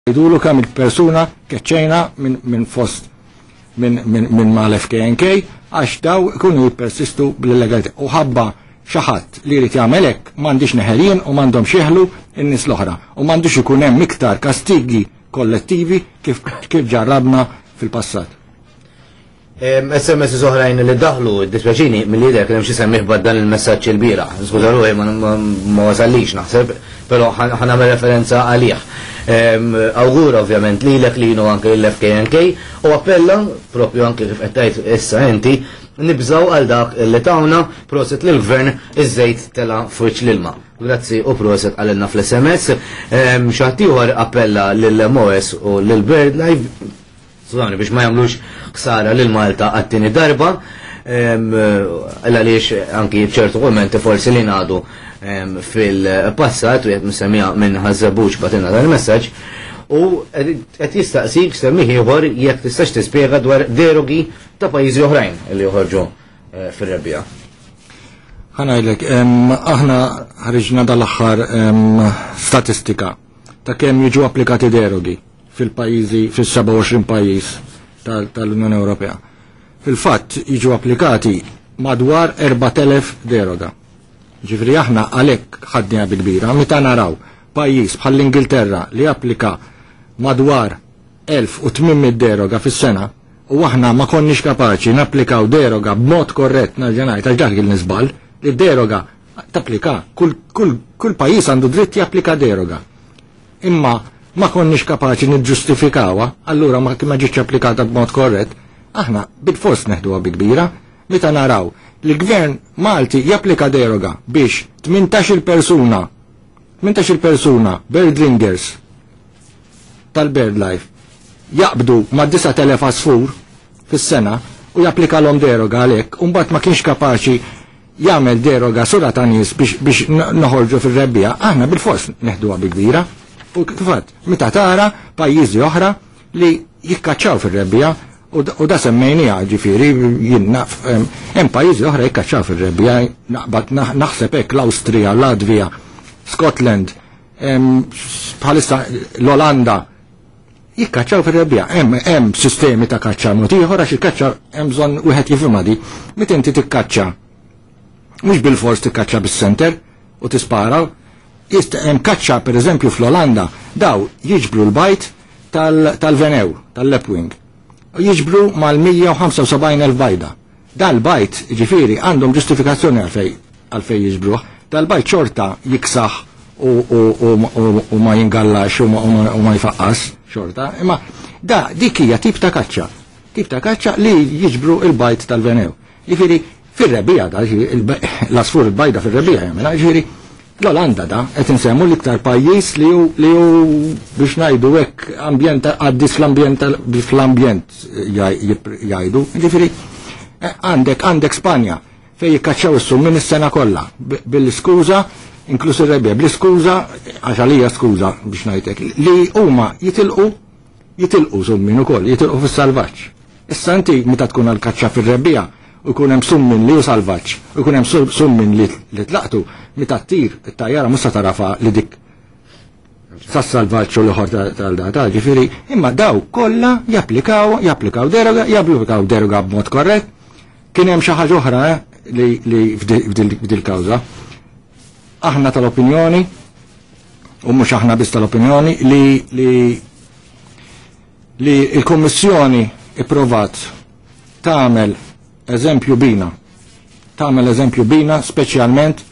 Ngħidulu kemm il-persuna keċċejna minn fost minn mal-FKNK għax daw ikunu jippersistu bl-illegalità. U ħabba xi ħadd li jrid jagħmel hekk m'għandix neħelin u m'għandhomx jeħlu n-nies l-oħra u m'għandux ikun hemm iktar kastigi kollettivi kif kif ġarrabna fil-passat. SMS oħrajn li daħlu, dispjaċini, mill-lider kien hemm xi semmih dan il-messaġġ il-bieraħ. Skuża ruħi ma wasallix naħseb, però ħa nagħmel referenza għalih. Awgura ovvjament lilek linu anke lill-FKNK u appella propju anke kif qed tgħid issa inti nibżgħu għal dak li tawna proset lill-gvern iż-żejt tela' f'wiċċ l-ilma. Grazzi u proset qalilna fl-SMS. Xi ħadd ieħor appella lill-MOS u lil BirdLife Skużawni biex ma jagħmlux ħsara lil Malta għat-tieni darba, għaliex anki ċertu kummenti forsi li ngħadu fil-passat u qed nsemmiha minn Ħaż-Żebbuġ bagħtilna dan il-messaġġ u qed jistaqsik semmih ieħor jekk tistax tispjega dwar derogi ta' pajjiżi oħrajn li joħorġu eh, fir-rebbiegħa. Ħa ngħidlek, aħna ħriġna dal-aħħar statistika ta' kemm jiġu applikati derogi fil-pajjiżi fis-27 pajjiż tal-Unjoni Ewropea. Fil-fatt jiġu applikati madwar 4000 deroga. Ġifieri aħna għalhekk ħadniha bi kbira meta naraw pajjiż bħall-Ingilterra li applika madwar 1800 deroga fis-sena u aħna ma konniex kapaċi napplikaw deroga b'mod korrett nerġa' ngħid għax dak kien żball li deroga tapplika kull, kull, kull pajjiż għandu dritt japplika deroga. Imma ma konniex kapaċi niġġustifikawha, allura ma ma ġietx applikata b'mod korrett, aħna bil-fors neħduha bi kbira meta naraw li l-gvern Malti japplika deroga biex 18 persuna 18 persuna birdringers tal-BirdLife jaqbdu ma' 9000 għasfur fis-sena u japplika l deroga għalhekk, u mbagħad ma kienx kapaċi jagħmel deroga sura ta' nies biex, biex noħorġu fir-rebbiegħa, aħna bil-fors neħduha bi kbira. U kif meta tara pajjiżi oħra li jikkaċċaw fir-rebbiegħa u da semmejnija ġifieri jien naf hemm pajjiżi oħra jikkaċċaw fir-rebbiegħa, naqbad naħseb hekk l-Awstrija, Latvija, Scotland, bħalissa l-Olanda jikkaċċaw fir-rebbiegħa. Hemm hemm sistemi ta' kaċċa mod ieħor għax il-kaċċa hemm bżonn wieħed jifhimha di. Meta inti tikkaċċa mhux bil-fors tikkaċċa bis-senter u tispara, hemm kaċċa pereżempju fl-Olanda daw jiġbru l-bajd tal-venew, tal-lapwing. Jiġbru mal-175,000 bajda. Dal-bajd, ġifieri, għandhom ġustifikazzjoni għalfej għalfej jiġbruh. Dal-bajd xorta jiksaħ u, u, u, u, u ma jingallax u ma, u ma, u ma jfaqqas xorta. Imma da dik hija tip ta' kaċċa. Tip ta' kaċċa li jiġbru il-bajd tal-venew. Ġifieri fir-rebbiegħa da, l-asfur il-bajda fir-rebbiegħa jagħmilha, ġifieri l-Olanda da qed insemmu l-iktar pajjiż li hu li hu biex ngħidu hekk ambjent għaddis fl-ambjent fl-ambjent jgħidu. Ġifieri għandek għandek Spanja fejn jikkaċċaw is-summin is-sena kollha bil-iskuża inkluż ir-rebbiegħa bl-iskuża għax għalija skuża biex ngħidlek li huma jitilqu jitilqu summin ukoll, jitilqu fis-salvaġġ. Issa inti meta tkun għal kaċċa fir-rebbiegħa u jkun hemm summin li hu salvaġġ u jkun hemm summin li tlaqtu, meta ttir it-tajjara mhux se tarafa li dik sas-salvaġġ u l-ieħor tal-data, ġifieri, imma daw kollha japplikaw, japplikaw deroga, japplikaw deroga b'mod korrett. Kien hemm xi ħaġa oħra eh, li, li f'dil kawża. Aħna tal-opinjoni, u mhux aħna biss tal-opinjoni, li li li l-Kummissjoni ipprovat tagħmel eżempju bina. Tagħmel eżempju bina speċjalment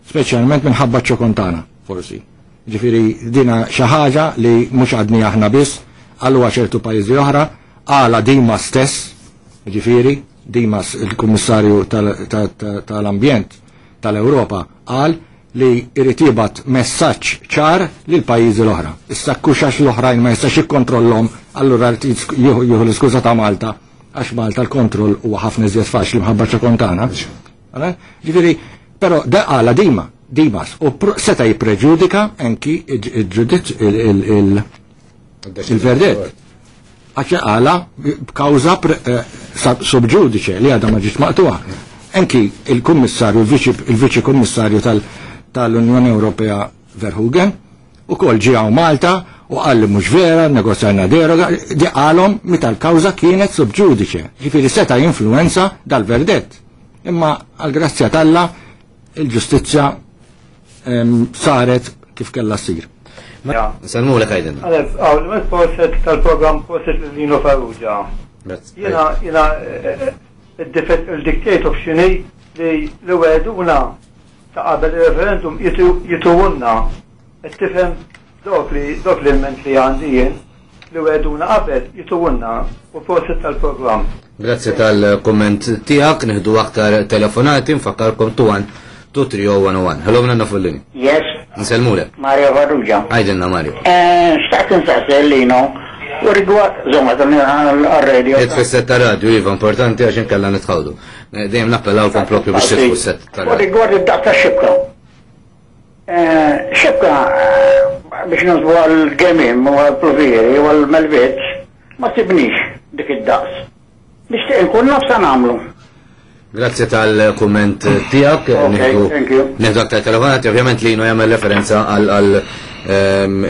speċjalment minħabba ċokontana, forsi. Ġifieri dina xi ħaġa li mhux għadni aħna biss, għalwa ċertu pajjiżi oħra, għala Dima stess, ġifieri Dimas il-Kummissarju tal-Ambjent tal-Ewropa qal li jrid jibgħat messaġġ ċar lil pajjiżi l-oħra. Issa kuxax l-oħrajn ma jistax jikkontrollhom, allura jieħu l-iskuża ta' Malta għax Malta l-kontroll huwa ħafna iżjed faċli mħabba ċokontana. Ġifieri, però da qala Dima, Dimas, u seta' jippreġudika anki il-verdett. Għax qala b'kawża sub ġudice li għadha ma ġietx maqtuha. Anki il-kummissarju, il-viċi kummissarju tal-Unjoni Ewropea Verheugen, u kol ġie Malta U qal li mhux vera, negozjajna deroga, di qalhom meta l-kawża kienet sub judice. Ġifieri seta' jinfluwenza dal-verdett. Imma għall-grazzja t'Alla il-ġustizzja saret kif kellha ssir. Nsellmulek għidilna. Għalef, għaw, proset tal-program proset Lino Farrugia. Jena, jena, il-dictate of xini li li wegħduna ta' qabel il-referendum jituwunna. Qed tifhem dok li dok li ment li għandi jien li wegħduna qabel jituwunna u proset tal-programm. Grazzi tal-komment tiegħek, nieħdu aktar telefonati, nfakkarkom 21 230 101. Hello, minna fuq il-linja. Yes, Nsellmulek. Mario Farrugia. Għidilna Mario. Xtaqt nsaqsi Lino, u rigward, zomma, għal-radio. Itfi s-set ta' radio, iva, importanti għax inkella nitħawdu. Dejjem nappellawkom propju biex titfu s-set ta' U radio. rigward id-daqs ta' xibka. Xibka, biex nżbu għal-gemim u għal-pluvieri u għal-melvitz, ma tibnix dik id-daqs. Nixtieq nkun naf sa nagħmlu. Grazzi tal-komment tiegħek. Ok, Nieħdu- thank you. Nieħdu aktar telefonati, ovvjament Lino jagħmel referenza għal għal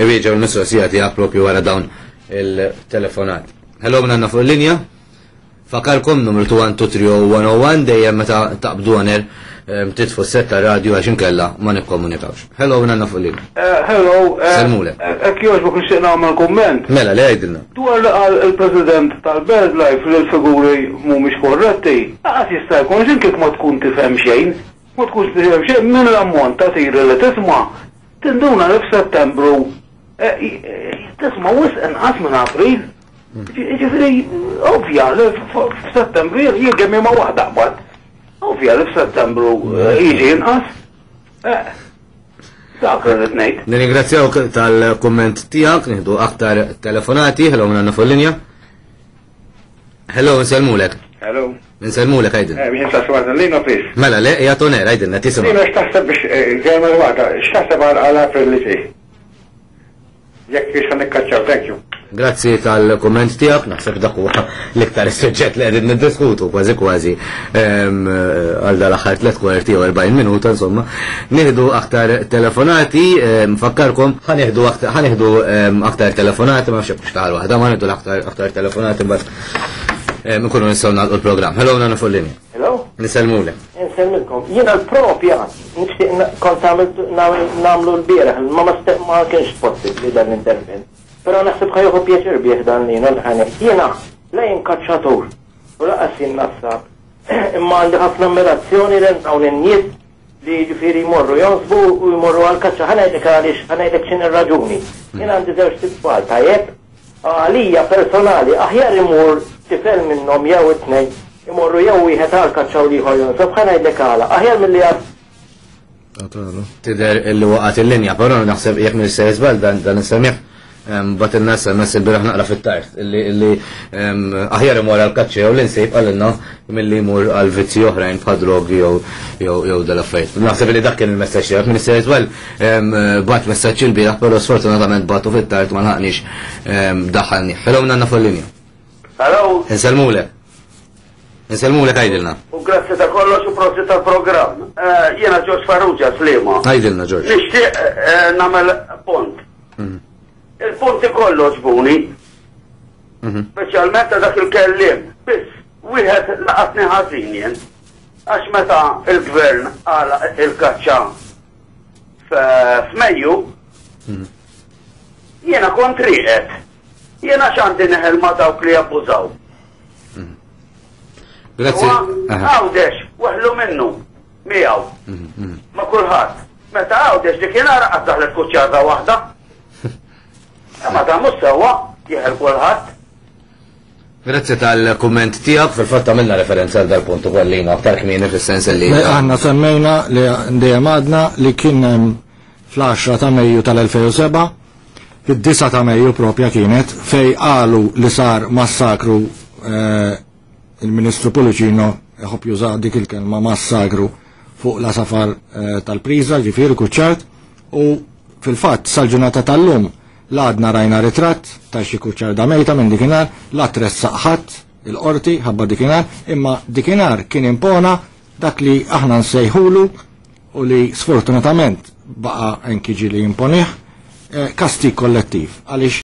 iwieġeb il-mistoqsija tiegħek propju wara dawn il-telefonati. Hello, minna fuq il-linja. Fakarkom numru 21230 dejjem meta taqbdu għaner titfu s-set ta' radio għax inkella ma nikkomunikawx. Hello, minna fuq il-linja. Hello. Sellmulek. Ek jogħġbok nixtieq nagħmel kumment. Mela, le għidilna. Dwar li qal il-President tal-BirdLife li l-figuri mhumiex korretti, għas jista' jkun x'in kif ma tkun tifhem xejn, ma tkunx tifhem xejn minn l-ammont ta' tiri li tisma' tinduna li f'Settembru tisma' wisq inqas minn April. Ġifieri ovvja li f'Settembru jien kemm ma waħda qbad. Ovvja li f'Settembru jiġi inqas. Dak li rrid ngħid. Nirringrazzjawk tal-komment tiegħek, nieħdu aktar telefonati, hello minna fuq il-linja. Hello, nsellmulek. Hello. Nsellmulek għidilna. Biex nsaqsi waħda Lino, please. Mela, le, hija on air, għidilna, tisma'. Lino, x'taħseb biex, ġejma l-waħda, x'taħseb għal April li ġej? Jekk biex nikkaċċaw, thank you. Grazzi tal-komment tiegħek, naħseb dak huwa l-iktar suġġett li qegħdin niddiskutu kważi kważi għal dal-aħħar 45 40 minuta insomma. Nieħdu aktar telefonati, nfakkarkom ħa nieħdu aktar, ħa nieħdu aktar telefonati, ma nafx hekk xtaħal waħda, ma nieħdu aktar aktar telefonati mbagħad nkunu nistgħu nagħlqu l-programm. Hello, nagħna fuq linja. Hello? Nisellmulek. Insellmilkom. Jiena l-propja nixtieq kont nagħmlu l-bieraħ, ma kienx possibbli dan l-intervent. Però naħseb ħa jieħu pjaċir bih dan li l-ħanek. Jiena la jien kaċċatur u laqas jien nassab. Imma għandi ħafna ammirazzjoni lejn dawn in-nies li ġifieri jmorru jonsbu u jmorru għal-kaċċa. Ħa ngħidlek għaliex, ħa ngħidlek x'in ir-raġuni. Jien għandi żewġ tfal tajjeb, għalija personali aħjar imur tifel minnhom jew it-tnejn imorru jew wieħed għal-kaċċa u l-ieħor jonsob, ħa ngħidlek għala. Aħjar milli għal Tidher illi waqgħet il-linja, però naħseb jekk mhux se żball dan is-semieħ bat il-nas nas il-bieraħ naqra fit-tard illi aħjar imur għal-kaċċa jew l-insib għalilna milli jmur għal vizzi oħrajn bħal drogi jew dal-affarijiet. Naħseb li dak kien il-messaġġ tiegħek minn se żball bat messaġġ il-bieraħ, però sfortunatament batu fit-tard ma lħaqniex daħħalni. Hello, nanna fuq il-linja. Hello. Insellmulek. Insellmulek għidilna. U grazzi ta' kollox u prosit tal-programm. Jiena George Farrugia, Sliema. Għidilna, George. Nixtieq nagħmel punt. Il-punti kollu ġbuni. Speċjalment ta' dak il-kellim. Biss, wieħed laqatni ħażin jien. Għax meta il-gvern għala il-kaċċa f'Mejju, jiena kont rieqed. Jiena x'għandi neħel ma' dawk li jabbużaw. Grazzi. Għawdex, waħlu minnu, miegħu. Ma' kulħadd. Meta Għawdex dik kien ara qatt daħlet kuċċarda waħda. Ma ta' mhux sewwa, jeħel kulħadd. Grazzi tal-kumment tiegħek, fil-fatt għamilna referenza għal dal-punt ukoll lina aktar kmieni fis-sens li Le, aħna semmejna li dejjem għadna li kien hemm fl-10 ta' Mejju tal-2007, fid-9 ta' Mejju propja kienet fej qalu li sar massakru il-Ministru Pullicino jħobb juża dik il-kelma massakru fuq la safar tal-priża, ġifieri kuċċart, u fil-fatt sal-ġurnata tal-lum l-għadna rajna ritratt ta' xi kuċċarda mejta minn dikinhar, la tressaq ħadd il-qorti ħabba dikinhar, imma dikinhar kien impona dak li aħna nsejħulu u li sfortunatament baqa' anki ġieli imponih kastig kollettiv. Għaliex